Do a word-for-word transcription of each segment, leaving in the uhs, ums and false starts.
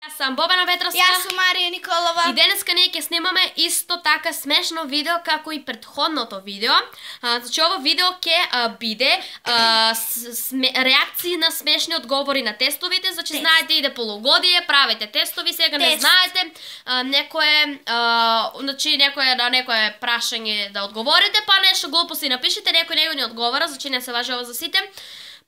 Јас сум Бобана Ветровска. Јас сум Марија Николова. И денеска ние ќе снимаме исто така смешно видео како и претходното видео. А, значи ово видео ќе а, биде а, с, сме, реакции на смешни одговори на тестовите. Значи Тест. Знаете иде полугодие, правите тестови, сега Тест. Не знаете а, некое а, значи некое на некое прашање да одговорите, па нешто глупо си напишете, некој него не одговара, значи не се важи ова за сите.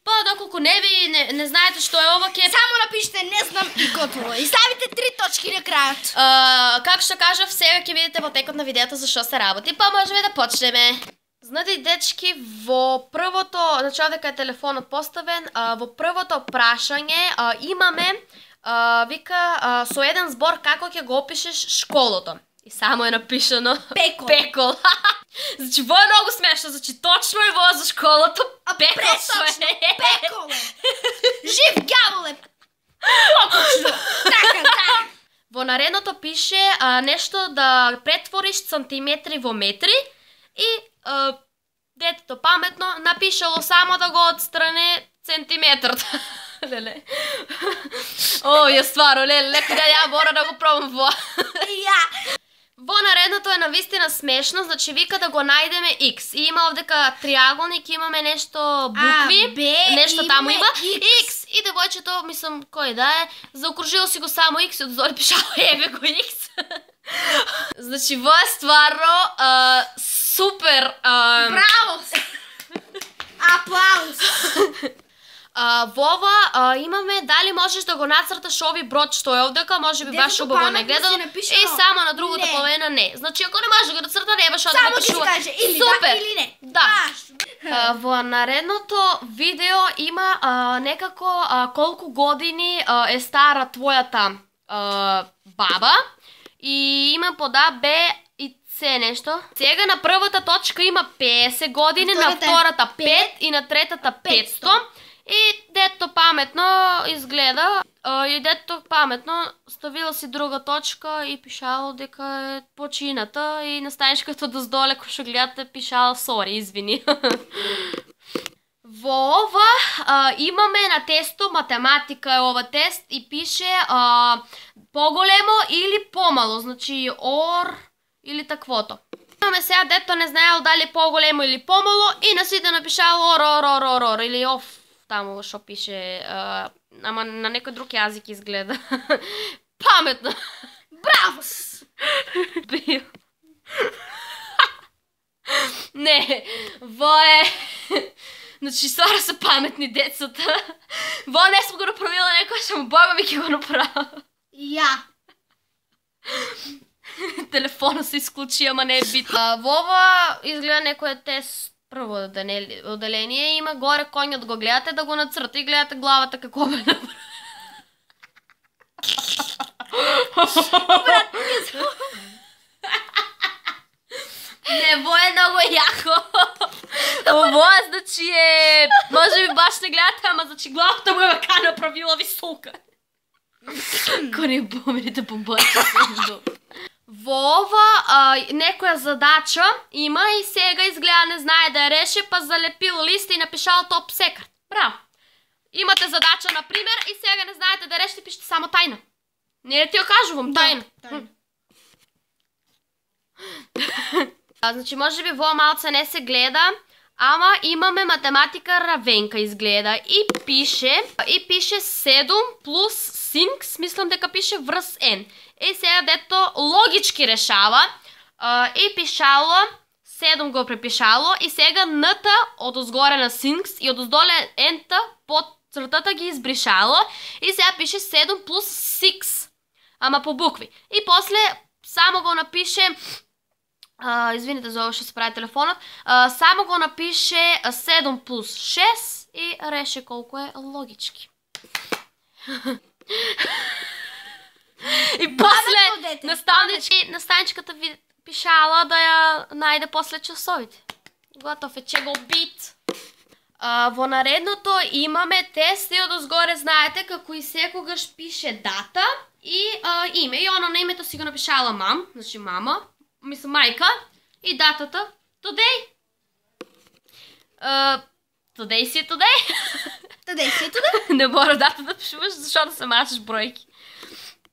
Па доколку не ви не, не знаете што е ова, ќе само напишете не знам и готово. И ставите три точки на крајот. Uh, како што кажав, сега ќе видите во текот на видеото за што се работи, па можеме да почнеме. Знаете, дечки, во првото, значи овде е телефонот поставен, uh, во првото прашање uh, имаме uh, вика uh, со еден збор како ќе го опишеш школото. И само е напишано Пекол. Пекол. Значи, во е многу смешно, значи точно е во за школото. Пекол Пресочно, пекол е. Жив ѓавол е. Покочно. Така, така. Во наредното пише а, нешто да претвориш сантиметри во метри и а, детето паметно напишало само да го отстране сантиметрот. Леле. О, ја стваро, леле, леко да ја мора да го пробам во. Ја. Во наредното е навистина смешно, значи вика да го најдеме X. И има овдека триаголник, имаме нешто букви, а, Б, нешто таму има X. X. И девојчето, мислам, кој да е, заокружило си го само X и одзори пишало еве го X. Значи во е стварно а, супер. А... Браво! Аплауз! Uh, во ова uh, имаме дали можеш да го нацрташ ови брод што е овдека, може би баш убаво не гледал. И само на другата не. половина не. Значи ако не може да го нацрта, не баш да само напишува. Само ќе каже или супер. да или не. Да. Uh, во наредното видео има uh, некако uh, колку години uh, е стара твојата uh, баба и има под А, Б и С нешто. Сега на првата точка има песет години, на втората пет и на третата петсто. И дето паметно изгледа, и дето паметно ставила си друга точка и пишало дека е почината и на станичката доздоле, кој што гледате, пишало сори, извини. Во ова а, имаме на тесто, математика е ова тест и пише а, поголемо или помало, значи ор или таквото. Имаме сега дето не знаел дали поголемо или помало и на сите напишало ор, ор, ор, ор, ор или оф. Таму што пише, а, ама на некој друг јазик изгледа. Паметно. Браво! Бил. Не, во е... Значи, стваро се паметни децата. Во не сме го направила некој, што му Бога ми ќе го направа. Ја. Телефонот се исклучи, ама не е битно. Во ова изгледа некој тест. Прво оделение има горе коњот го гледате да го нацрта и гледате главата како бе направи. Не, во е многу јако. Ово, значи е... Може би баш не гледате, ама значи главата му е вака направила висока. Ко не померите побачите се. Во ова а, некоја задача има и сега изгледа не знае да ја реше, па залепил лист и напишал топ секрет. Браво. Имате задача, например, и сега не знаете да решите, пишете само тајна. Не ли ти ја кажувам, тајна. Да, тајна. А, значи, може би во малце не се гледа, ама имаме математика равенка изгледа и пише, и пише седум плюс синкс, мислам дека пише врз N. И сега дето логички решава а, и пишало, седум го препишало и сега Н-та од озгоре на синкс и од оздоле N-та под цртата ги избришало и сега пише седум плюс шест, ама по букви. И после само го напише, а, извините за ова што се прави телефонот, а, само го напише седум плюс шест и реше колку е логички. И после наставнички, наставничката ви пишала да ја најде после часовите. Готов е, че го бит. А, во наредното имаме тест и одозгоре знаете како и секогаш пише дата и а, име. И оно на името си го напишала мам, значи мама, мислам мајка, и датата today. Uh, today си е today. Today си е today. Не мора дата да пишуваш, защото се мачеш бројки.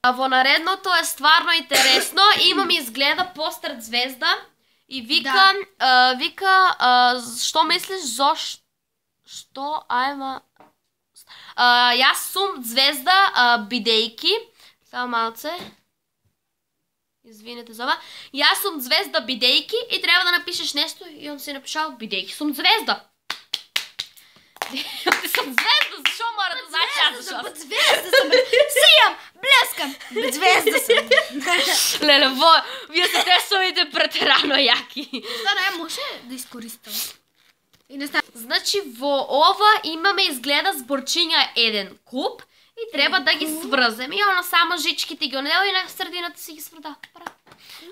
Во наредното е стварно интересно. Имам изгледа постер звезда и вика, да. вика, а, што мислиш зошто, што, ајма, а, јас сум звезда, а, бидејки, само малце, извинете за ова, јас сум звезда бидејки и треба да напишеш нешто и он си напишал бидејки сум звезда. Ти сум звезда, зашо мора да знаеш јас зашо? Бud звезда сум, сијам, блескам, bud звезда сум. Леле, во, вие се тесовите претерано јаки. Стварно, ја може да искористам. И не знам. Значи, во ова имаме изгледа зборчиња еден куп и треба да ги сврзем. И оно само жичките ги онедел и на средината си ги сврда.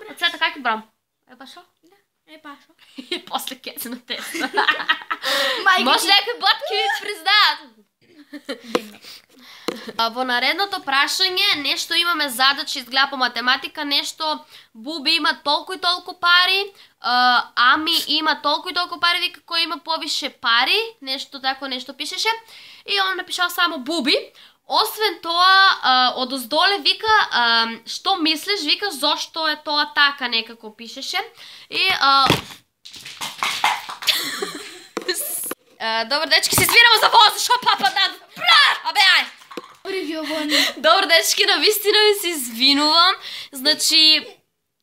Од сега како ги брам? Е башо? Да, е башо. И после кеце на теста. Може некои ботки ви признаат. Во наредното прашање, нешто имаме задача изгледа по математика, нешто Буби има толку и толку пари, Ами има толку и толку пари, вика кој има повише пари, нешто тако нешто пишеше, и он напишал само Буби. Освен тоа, од оздоле вика, што мислиш, вика, зошто е тоа така, некако пишеше. И... Добро, дечки, се извинам за воз, шо папа да... Абе, ај! Добро, дечки, навистина ми се извинувам. Значи,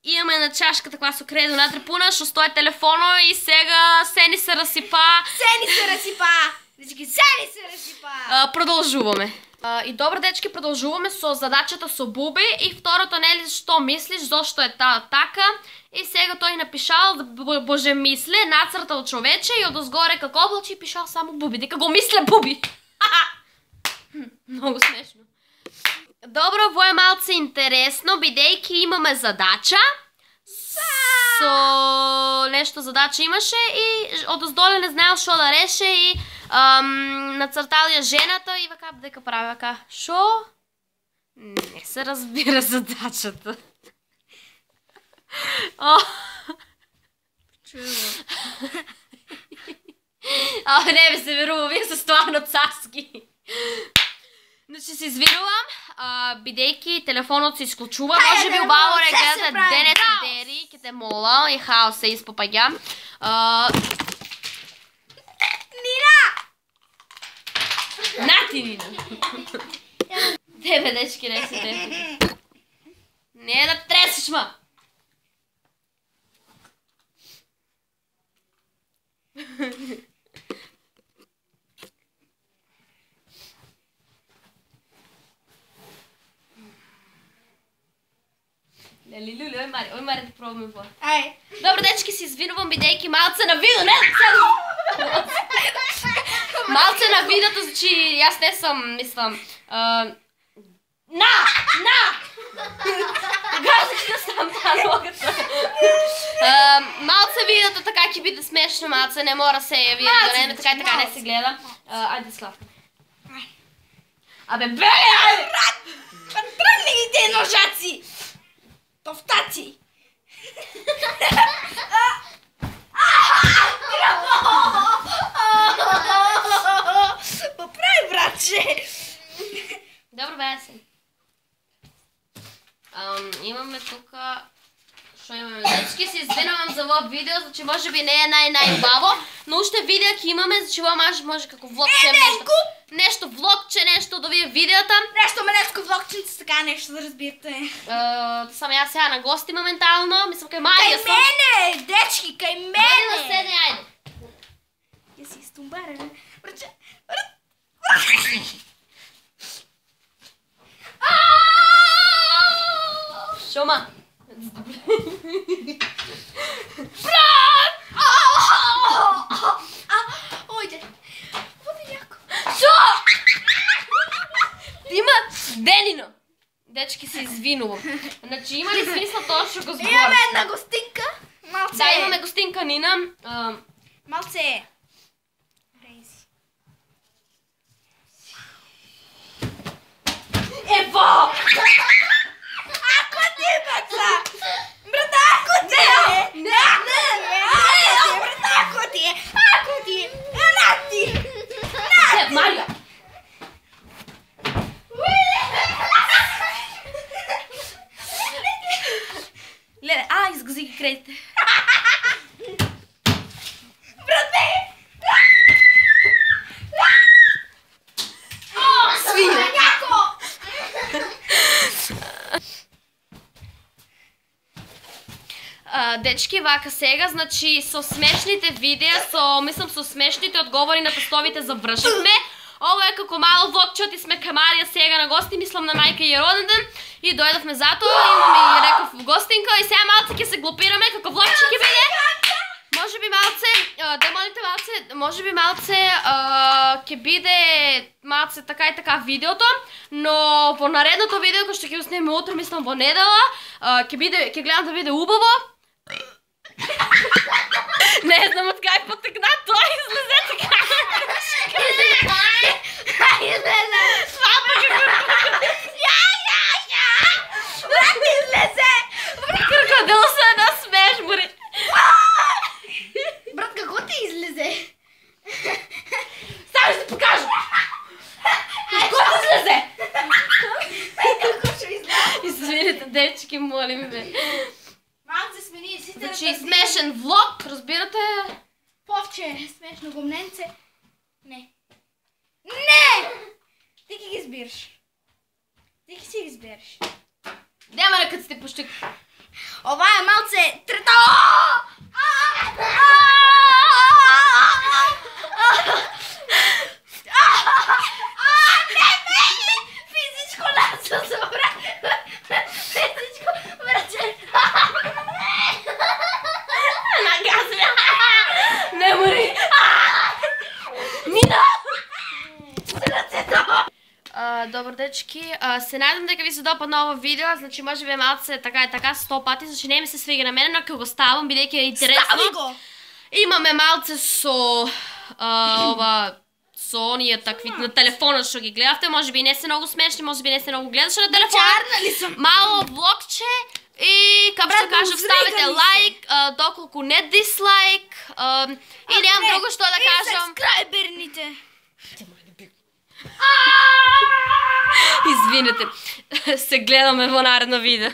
имаме на чашката која со кредо натре пуна, што стои телефоно и сега се ни се расипа. Се ни се расипа! Дечки, се ни се расипа! Продолжуваме. И добро, дечки, продолжуваме со задачата со Буби и второто, нели, што мислиш, зошто е таа така. И сега тој напишал, боже мисле, нацртал човече и одозгоре како облаче и пишал само Буби, дека го мисле Буби. Многу смешно. Добро, во е малце интересно, бидејќи имаме задача. Со нешто задача имаше и одоздоле не знаел што да реше и нацртал ја жената и вака дека прави вака. Шо? Не се разбира задачата. А, не ми се верува, вие се стварно царски. Значи се извинувам, бидејќи телефонот се исклучува, може би убаво не гледате денес и дери, ке те мола, и хаос се испопаѓа. Нина! Нати, Нина! Тебе, дечки, не си те. Не да тресиш, ма! Лели, лули, ој Мари, ој Мари да пробаме во. Ај. Добро, дечки, се извинувам, бидејќи малце на видео, не, малце на видеото, значи, јас не сум, мислам, на, на! Газах да сам таа ногата. Малце видеото така ќе биде смешно, малце, не мора се ја видео, да не, така и така не се гледа. Ајде, Славка. Абе, беле, ајде! Тргни ги те ножаци! Тофтаци! Поправи, братче! Добро, бе, се. Имаме тука... Шо имаме? Дечки, се извинувам за во видео, значи може би не е нај-најубаво, но уште видео ќе имаме, значи во може, може како влогче нешто. Нешто влогче, нешто да вие видеото. Нешто малеско влогченце, така нешто да разбирате. Сам јас сега на гости моментално, мислам кај Марија сум. Кај мене, дечки, кај мене. Дојди да седне, ајде. Ја си стумбара, браче. Шома. Брат! Ојде. Води јако. Шо? Има Денино. Дечки, се извинувам. Значи, има ли смисла тоа што го збориш? Имаме една гостинка. Малце. Да, имаме гостинка Нина. Малце. Ево! Ако ти, баца! Брат, ако ти! Не, не, не! Брат, ако ти! Ако ти! Нати! Нати! Марија! крейте. Брате! Свиња! Дечки, вака сега, значи со смешните видеа, со, мислам, со смешните одговори на тестовите завршивме. Ово е како мало влогче, оти сме кај Марија сега на гости, мислам на мајка и роден ден и дојдовме затоа, имаме и реков гостинка и сега малце ќе се глупираме како влогче ќе биде. Може би малце, демоните малце, може би малце ќе биде малце така и така видеото, но во наредното видео кој што ќе го снимеме утре, мислам во недела, ќе биде, ќе гледам да биде убаво. Не знам од кај потекна, тоа излезе така. Излезе! Свапа како... Ја, ја, ја! Брат, излезе! Крокодил се да смеш, бори. Брат, како ти излезе? Само ще ти покажа! Како ти излезе? Како ще излезе? Извините, дечки, молим ве. Малце сме ние сите... Значи, смешен влог, разбирате? Повче, смешно гумненце. Не. Не! Ти ќе ги избираш. Ти ќе си ги избереш. Нема на кад сте пушти. Ова е малце трета... Не, не! Физичко насо се брат. Физичко, браче. Нагазме. Не мори. Мина! Добар дечки, се најдам дека ви се допадна ово видео, значи може би малце така и така сто пати, значи не ми се свига на мене, но ќе го ставам, бидејќи е интересно. Стави го! Имаме малце со ова со оние такви на телефонот што ги гледавте, може би не се многу смешни, може би не се многу гледаше на телефонот. Мало влогче и како што кажав, ставете лайк, доколку не дислайк и немам друго што да кажам. И сабскрајберните. Извинете, се гледаме во наредно видео.